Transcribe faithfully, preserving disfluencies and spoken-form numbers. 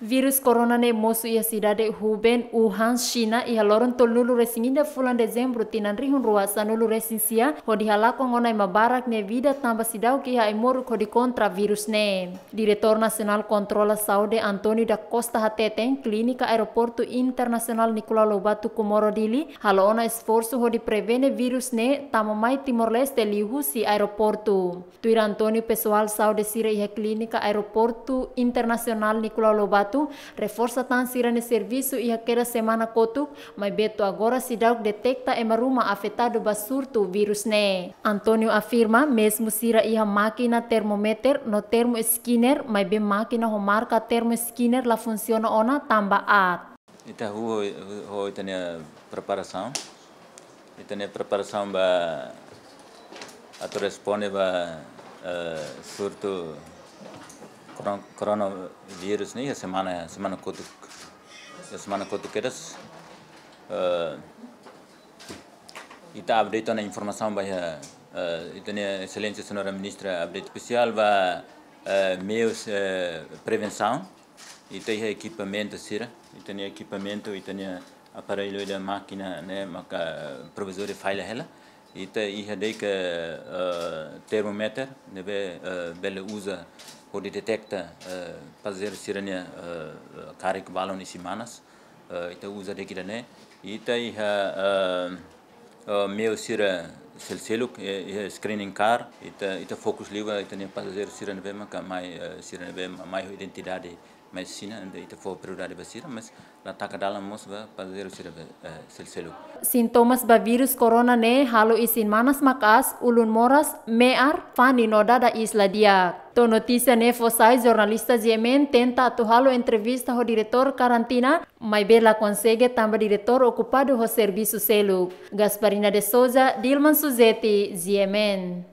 Virus corona ne'e mosu iha sidade Hubei, Wuhan, Xina, iha loron tolunulu resin ida fulan Dezembru tinan rihun rua sanulu resin sia, hodi halakon ona ema barak nia vida tanba seidauk iha ai-moruk hodi kontra virus ne'e. Diretór Nasionál Kontrola Saúde António da Costa hateten, Klínika Aeroportu Internasionál Nicolau Lobato Comoro Dili halo ona esforsu hodi prevene virus ne'e tama mai Timor-Leste liuhusi aeroportu. Tuir António, pesoál saúde sira iha Klínika Aeroportu Internasionál Nicolau Lobato reforsa tan sira-nia servisu iha kedas semana kotuk, maibé to'o agora seidauk deteta ema ruma afetadu ba surtu virus ne'e. António afirma, mezmu sira iha mákina termómetru no termoscanner, maibé mákina ho marka termoscanner la funsiona ona tanba aat. Ita ho, ho, ho ita-nia preparasaun. Ita-nia preparasaun ba atu responde ba, eh, surtu coron-, coronavírus ne'e iha semana, semana kotuk. Iha semana kotuk kedas. Eh, ita update ona informasaun ba iha, eh, ita-nia Exelénsia Señora Ministra update espesiál ba, eh, meius, eh, prevensaun. Ita iha ekipamentu sira, ita-nia ekipamentu, ita-nia aparellu ida mákina ne'e maka provizóriu falla hela. Ita iha de'it, eh, termómetru ne'ebé, eh, bele uza hodi deteta, eh, pasajeiru sira-nia, eh, karik balun isin-manas. Eh, ita uza de'it ida-ne'e. Ita iha, eh, eh, meiu sira selseluk, eh, iha screening car. Ita, ita fokus liu ba ita-nia pasajeiru sira ne'ebé maka mai, eh, sira ne'ebé ma-, mai ho identidade mai Xina, entaun ita fó prioridade ba sira, mas la taka dalan mós ba pasajeiru sira be, eh, selseluk. Sintomas ba virus corona ne'e halo isin-manas maka'as, ulun moras, me'ar, fani no dada iis la di'ak. To'o notísia ne'e fó sai, jornalista GMN tenta atu halo entrevista ho diretór karantina, maibé la konsege tanba diretór okupadu ho servisu seluk. Gasparina de Souza, Dilman Suzeti, GMN.